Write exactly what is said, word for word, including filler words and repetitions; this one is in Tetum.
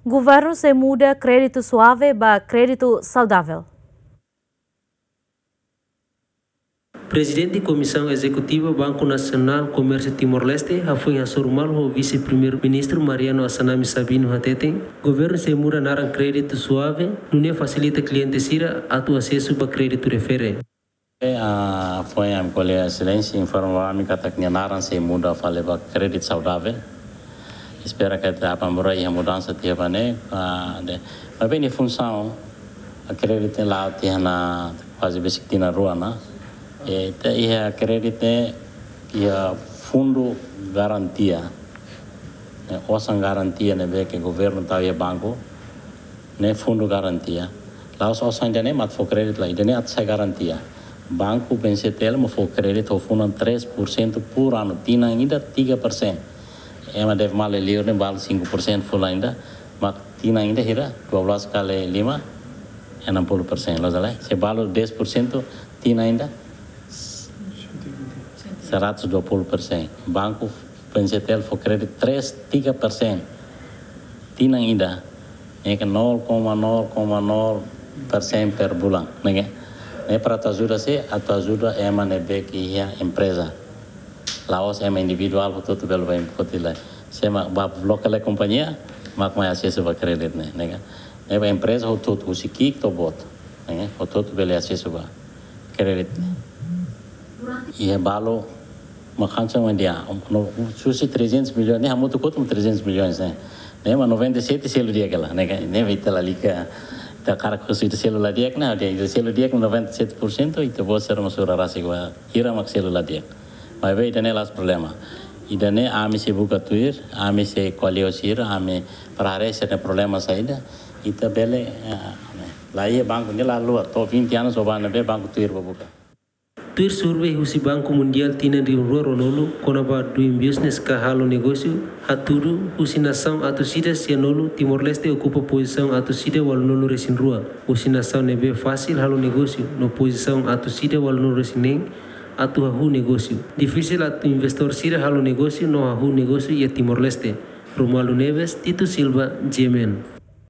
Governu sei muda kréditu suave ba kréditu saudável. Prezidente Komisaun Ezekutiva Banku Nasionál Komérsiu Timor-Leste, hafoin hasoru malu ho Vise-Primeiru-Ministru Mariano Assanami Sabino hateten, governu sei muda naran kréditu suave, nune'e fasilita kliente sira atu asesu ba kréditu refere. Ah, foin ami ko'alia, Exelénsia informa ba ami katak nia naran sei muda fali ba kréditu saudável. Espera katak apambura iha mudansa tiha ba ne'e, ah, de. Maibé nia funsaun, ah, kréditu ne'e la'o tiha ona kuaze besik tinan rua ona. E, ita iha kréditu ne'e, iha fundu garantia. E, osan garantia ne'ebé ke governu tau iha banku, ne'e fundu garantia. La'ós osan ida-ne'e mak fó kréditu lai, ida-ne'e atu sai garantia. Banku B C T L mak fó kréditu ho funan três por cento por anu, tinan ida tiga persen. Ema deve malu liur ne'e balu cinco por cento fulan ida, mak tinan ida hira, dua belas kali lima, enam puluh persen. Loos ka lae? Se balu dez por cento, tinan ida, seratus dua puluh persen. Banku B C T L fó kréditu três, tiga persen. Tinan ida, ne'e ke nol koma nol koma nol persen per bulan, ne'e ke. Ne'e para atu ajuda sé, atu ajuda ema ne'ebé ke iha empreza. La'ós ema individuál hotu-hotu bele bá foti lai. Sé mak ba lokál kompañia, mak mai asesu ba kréditu ne'e, ne'e ke. Ne'e ba empreza hotu-hotu, husi ki'ik to'o boot, ne'e ke, hotu-hotu bele asesu ba kréditu ne'e. Iha balu mak hanesan mak dehan, no, husi trezentos milhões, ne'e hamutuk hotu trezentos milhões, ne'e. Ne'e mak noventa e sete selu di'ak hela, ne'e ka, ne'e ita lalika, ita hakarak husu ita selu la di'ak, ne'e, ita selu di'ak noventa e sete por cento, ita-boot sira mak sura rasik ba hira mak selu la di'ak. Maibé ida-ne'e la'ós problema. Ida-ne'e ami sei buka tuir, ami sei ko'alia ho sira, ami para haree sira-nia problema saida, ita bele, ah, ne'e. La iha banku ne'e la haluha, to'o vinte anos ho banku ne'ebé banku tuir ba buka. Tuir survei husi Banku Mundiál tinan rihun rua ruanulu kona-ba doing business ka halo negósiu, hatudu husi nasaun atus ida sianulu, Timor-Leste okupa pozisaun atus ida ualunulu resin rua. Husi nasaun ne'ebé fasil halo negósiu, no pozisaun atus ida ualunulu resin neen atu hahú negósiu. Difisil atu investór sira halo negósiu no hahú negósiu iha Timor-Leste. Romualdo Neves, Tito Silva, G M N.